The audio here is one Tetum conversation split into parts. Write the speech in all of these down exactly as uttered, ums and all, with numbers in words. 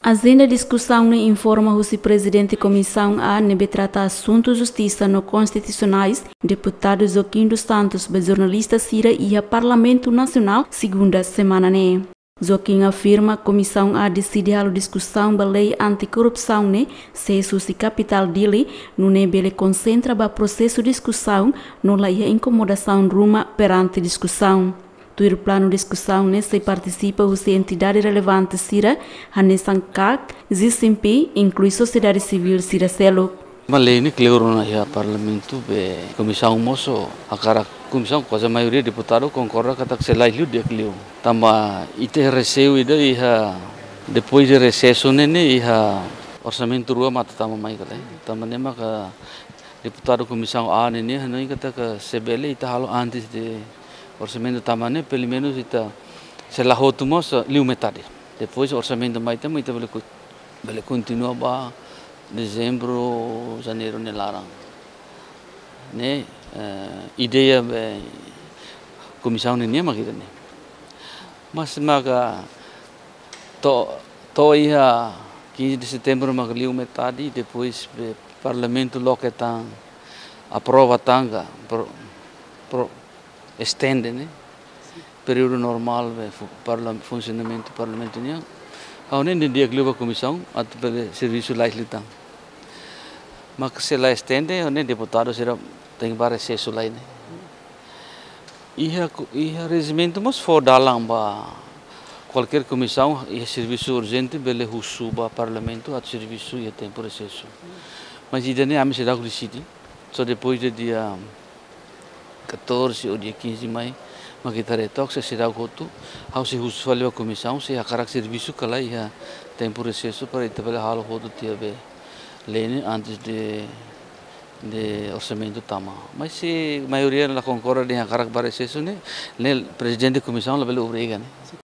Ajenda diskusaun ne'e informa husi Prezidente Komisaun A ne'ebé trata asuntu justisa no konstitusionais, Deputadu Joaquim dos Santos, ba jornalista sira iha Parlamentu Nasionál, segunda semana ne'e. Joaquim afirma Komisaun A deside halo diskusaun ba lei anti-korrupsaun ne'e sees husi kapitál Dili, nune'e bele konsentra ba prosesu diskusaun no la iha inkomodasaun ruma perante diskusaun. Tuir planu diskusaun ne'e sei partisipa husi entidade relevante sira, hanesan kak, G C M P, inklui sosiedade sivíl sira seluk. Maibé lei ne'e kleur ona iha Parlamentu, be komisaun mós hakarak, komisaun kuaze maioria deputadu konkorda katak sei la'o liu di'ak liu. Tanba ita reseiu ida iha, depois de resesu ne'e, ne'e iha orsamentu rua mak atu tama mai ka lae. Tanba ne'e maka deputadu Komisaun A ne'e, ne'e hanoin katak se bele ita halo antes de orsamentu tama ne'e, pelumenus ita sei la hotu mós liu metade. Depois orsamentu mai tama ita bele ku-, bele kontinua ba dezembru, janeiru nia laran. Ne'e, eh, ideia be komisaun ne'e mak ida-ne'e. Mas maka to'o, to'o iha quinze de setembro maka liu metade, depois be Parlamentu loke tan, aprova tan ka, pro-, pro-, estende, ne'e? Períodu normál be fu-, parla-, funsionamentu Parlamentu nian. Ha'u hanoin di'ak liu ba komisaun atu bele servisu la'o liután. Mas se la estende, ha'u hanoin deputadu sira tenke ba resesu lai, ne'e? Iha ku-, iha rejimentu mós fó dalan ba kualkér komisaun iha servisu urjente bele husu ba Parlamentu atu servisu iha tempu resesu. Mas ida-ne'e ami seidauk deside, só depois de dia catorze ou dia quinze mai, mak ita retook, se seidauk hotu, ha'u sei husu fali ba komisaun, se hakarak servisu ka lae iha tempu resesu para ita bele halo hotu tiha be lei ne'e antes de, de orsamentu tama. Mas se maioria la konkorda dehan hakarak ba resesu ne'e, ne'e Prezidente Komisaun labele obriga, ne'e?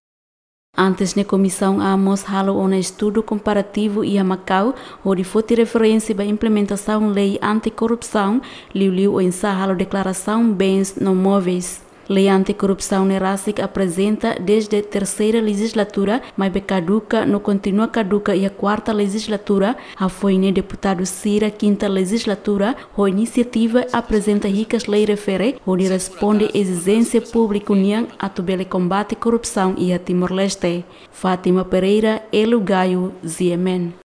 Antes ne'e Komisaun A mós halo ona estudu komparativu iha Makau, hodi foti referénsia ba implementasaun lei anti-korrupsaun, liuliu oinsá halo deklarasaun bens no móveis. Lei anti-korrupsaun ne'e rasik aprezenta dezde terseira lejizlatura, maibé kaduka no kontinua kaduka iha kuarta lejizlatura, hafoin ne'e deputadu sira kinta lejizlatura ho inisiativa aprezenta hikas lei refere hodi responde ezijénsia públiku nian atu bele kombate korrupsaun iha Timor-Leste. Fátima Pereira, Elo Gayo, G M N.